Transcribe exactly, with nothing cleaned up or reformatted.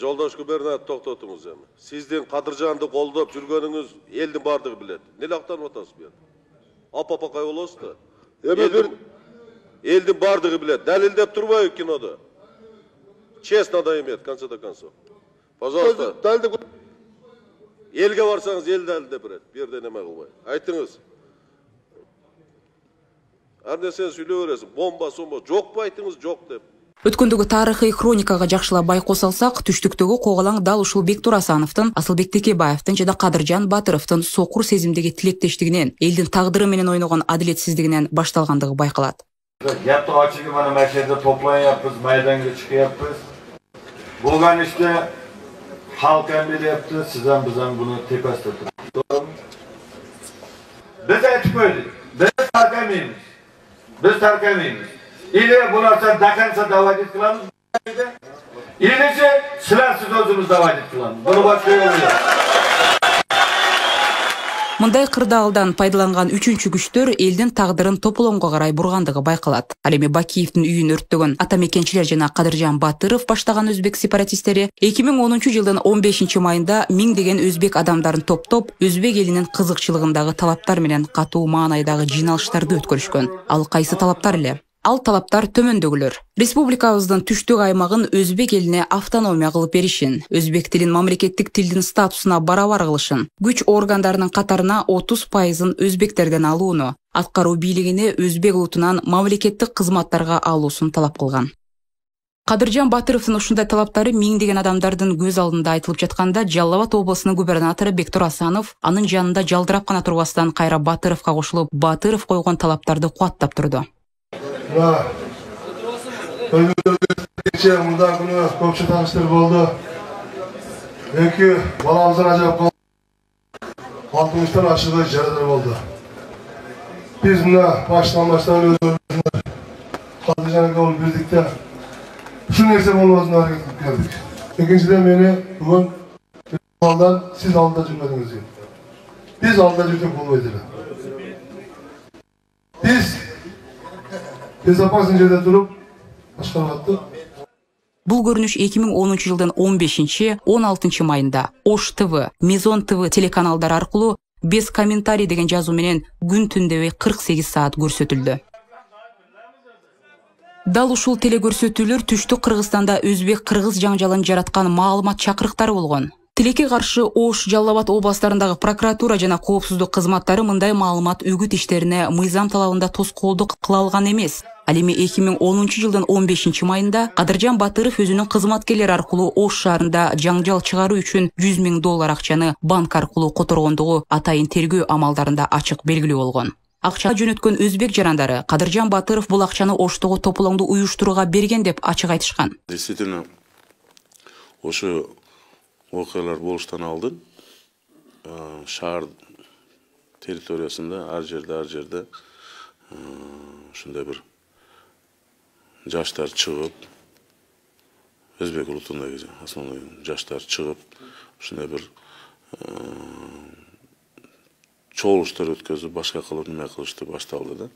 Жолдош губернатор токтотуңуз эми. Сиздин Кадыржанды колдоп жүргөнүңүз элдин бардыгы билет. Эмне актанып атасыз бу жерде? Апапакай болосуз да. Эми бир элдин бардыгы билет. Далилдеп турбайбы кинодо? Честно да имеет, в конце до концов. Пожалуйста. Элге барсаңыз эл далилдеп берет. Бу жерде неме кылбай. Айтыңыз. Ар нерсени сүйлөй бересиз. Бомба, сомба жокпу айтыңыз, жок деп. Өткөндөгү тарыхый хроникага жакшылап байкоо салсак, түштүктөгү коголаң дал ушул Бектур Асановдун, Асылбек Текебаевдин жана Кадыржан Батыровдун сокур сезимдеги тилектештигинен, элдин тагдыры менен ойногон адилетсиздигинен башталгандыгы байкалат. Yaptı açığı bana merkezde toplan yapız, maydanga çıkı yapız. Bulgan işte halk emri yaptı, sizden bizden bunu tepeste tuttu. Doğru mu? Biz etip öyle. Biz terk emeyiz. Biz terk emeyiz. İle bunlarsa dakansa davacet kılamız. İlese silersiz özümüz davacet kılamız. Bunu başka yolu yok. Мындай кырдаалдан пайдаланган үчүнчү күчтөр элдин тагдырын тополоңго карай бургандыгы байкалат. Ал эми Бакиевдин үйүн өрттөгөн атамекенчилер жана Кадыржан Батыров баштаган өзбек сепаратисттери эки миң онунчу жылдын он бешинчи майында миңдеген өзбек адамдарын топтоп, өзбек элинин кызыкчылыгындагы талаптар менен катуу маанайдагы жыйналыштарды өткөрүшкөн. Ал кайсы талаптар эле? Ал талаптар төмөндөгүлөр. Республикабыздын түштүк аймагын өзбек элине автономия кылып беришин, өзбек тилин мамлекеттик тилдин статусуна барабар кылышын, күч органдарынын катарына отуз пайызын өзбектерден алууну, аткаруу бийлигине өзбек улутунан мамлекеттик кызматтарга алуусун талап кылган. Кадыржан Батыровдун ушундай талаптары миңдеген адамдардын көз алдында айтылып жатканда, Жалал Абад облусунун губернатору Бектур Асанов анын жанында жалдырап гана турбастан кайра Батыровго кошулуп, Батыров койгон талаптарды кубаттап турду. Мына кечээ мындай күнү көпчү тааныштар болду. Эки баламыздын ажырап калды. Алтымыштан ашыгы жарадар болду. Биз мына баштан баштап өзүбүздүн Кадыржанга болуп бирдик да ушул нерсе болбосун аракет кылып келдик. Экинчиден мени бүгүн алдан сиз алдыда жүрмөдүңүз. Биз алдыда жүрсөк болбойт эле. Биз безопасный жерде туруп башкарып. Бул көрүнүш эки миң онунчу жылдын он бешинчи он алтынчы майында Ош ТВ, Мезон ТВ телеканалдары аркылуу без комментарий деген жазуу менен күн түндөбөй кырк сегиз саат көрсөтүлдү. Дал ушул телекөрсөтүүлөр түштүк Кыргызстанда өзбек-кыргыз жаңжалын жараткан маалымат чакырыктары болгон. Тилекке каршы Ош, Жалал Абад областарындагы прокуратура жана коопсуздук кызматтары мындай маалымат үгүт иштерине мыйзам талабында тоскоолдук кыла алган эмес. Ал эми эки миң онунчу жылдын он бешинчи майында Кадыржан Батыров өзүнүн кызматкерлери аркылуу Ош шаарында жаңжал чыгаруу үчүн жүз миң доллар акчаны банк аркылуу которгондугу атайын тергөө амалдарында ачык белгилүү болгон. Акча жөнөткөн өзбек жарандары Кадыржан Батыров бул акчаны Оштогу тополоңду уюштурууга берген деп ачык айтышкан. Действительно, ошо окуялар болуштан алдын шаар территориясында ар жерде ар жерде ушундай бир жаштар чыгып, өзбек улутундагы основной жаштар чыгып, ушундай бир чогулуштар өткөзүп, башка кылып неме кылышты башталды да.